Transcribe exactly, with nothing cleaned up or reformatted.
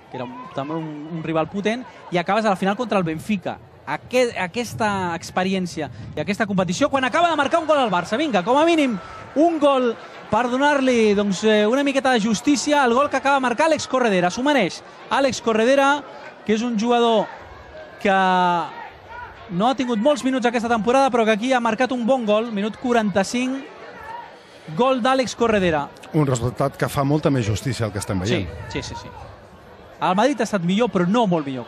que era també un, un rival potent, i acabes a la final contra el Benfica. Aquest, aquesta experiència i aquesta competició, quan acaba de marcar un gol al Barça. Vinga, com a mínim, un gol per donar-li doncs, una miqueta de justícia al gol que acaba de marcar Àlex Corredera. S'ho mereix Àlex Corredera, que és un jugador que no ha tingut molts minuts aquesta temporada, però que aquí ha marcat un bon gol, minut quaranta-cinc, gol d'Àlex Corredera. Un resultat que fa molta més justícia al que estem veient. Sí, sí, sí. sí. El Madrid ha estat millor, però no molt millor.